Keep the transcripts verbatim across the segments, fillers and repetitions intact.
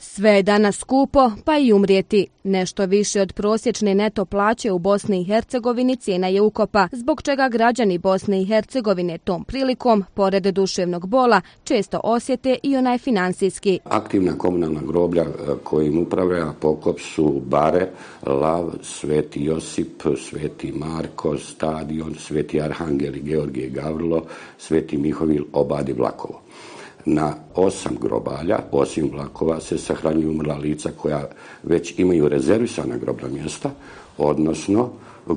Sve je danas skupo, pa i umrijeti. Nešto više od prosječne neto plaće u Bosni i Hercegovini cijena je ukopa, zbog čega građani Bosne i Hercegovine tom prilikom, pored duševnog bola, često osjete i onaj financijski. Aktivna komunalna groblja kojim upravlja pokop su Bare, Lav, Sveti Josip, Sveti Marko, Stadion, Sveti Arhangel i Georgije Gavrilo, Sveti Mihovil, Obad i Vlakovo. Na osam grobalja, osim Vlakova, se sahranjuju umrla lica koja već imaju rezervisana grobna mjesta, odnosno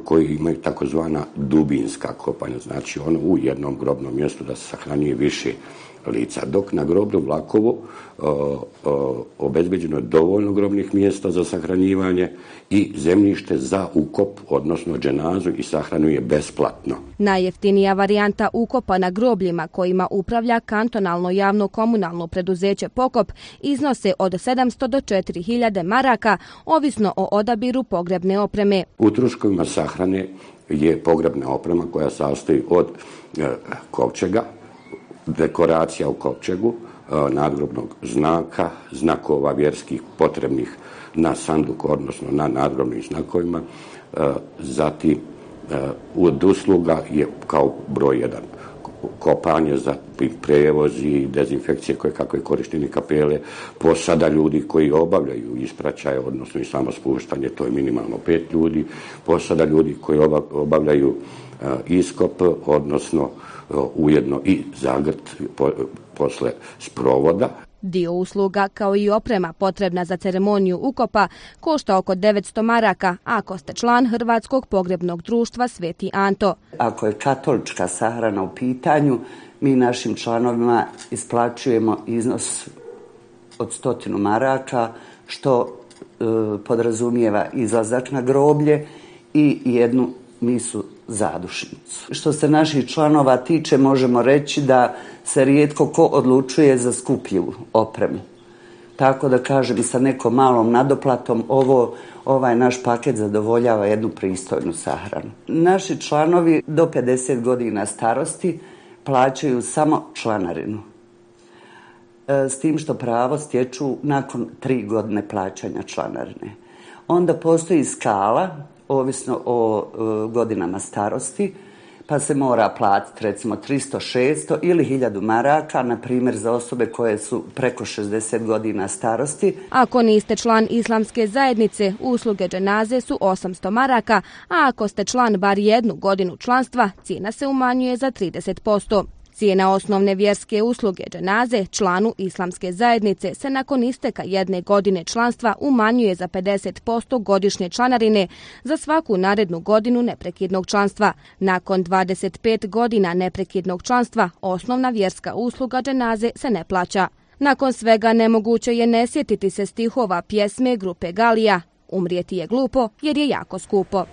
koji imaju takozvana dubinska kopanja, znači ono u jednom grobnom mjestu da se sahranjuje više lica. Dok na groblju Vlakovu o, o, obezbeđeno je dovoljno grobnih mjesta za sahranjivanje i zemljište za ukop, odnosno dženazu, i sahranjuje besplatno. Najjeftinija varijanta ukopa na grobljima kojima upravlja kantonalno javno komunalno preduzeće Pokop iznose od sedamsto do četiri hiljade maraka, ovisno o odabiru pogrebne opreme. U troškovima sahrane je pogrebna oprema koja sastoji od e, kovčega, dekoracija u kovčegu, nadgrobnog znaka, znakova vjerskih potrebnih na sanduku, odnosno na nadgrobnim znakovima. Zatim, od usluga je kao broj jedan kopanje, zatim prevozi, dezinfekcije koje kakve korišteni kapele, posada ljudi koji obavljaju ispraćaje, odnosno i samo spuštanje, to je minimalno pet ljudi, posada ljudi koji obavljaju iskop, odnosno ujedno i zagrt po, posle sprovoda. Dio usluga kao i oprema potrebna za ceremoniju ukopa košta oko devetsto maraka ako ste član Hrvatskog pogrebnog društva Sveti Anto. Ako je katolička sahrana u pitanju, mi našim članovima isplaćujemo iznos od stotinu maraka, što e, podrazumijeva izlazak na groblje i jednu misu zadušnicu. Što se naših članova tiče, možemo reći da se rijetko ko odlučuje za skuplju opremu. Tako da kažem, sa nekom malom nadoplatom ovo, ovaj naš paket zadovoljava jednu pristojnu sahranu. Naši članovi do pedeset godina starosti plaćaju samo članarinu. S tim što pravo stječu nakon tri godine plaćanja članarine. Onda postoji skala, ovisno o e, godinama starosti, pa se mora platiti recimo tristo, šesto ili hiljadu maraka, na primjer za osobe koje su preko šezdeset godina starosti. Ako niste član islamske zajednice, usluge dženaze su osamsto maraka, a ako ste član bar jednu godinu članstva, cijena se umanjuje za trideset posto. Cijena osnovne vjerske usluge dženaze članu islamske zajednice se nakon isteka jedne godine članstva umanjuje za pedeset posto godišnje članarine za svaku narednu godinu neprekidnog članstva. Nakon dvadeset pet godina neprekidnog članstva osnovna vjerska usluga dženaze se ne plaća. Nakon svega nemoguće je ne sjetiti se stihova pjesme grupe Galija. Umrijeti je glupo jer je jako skupo.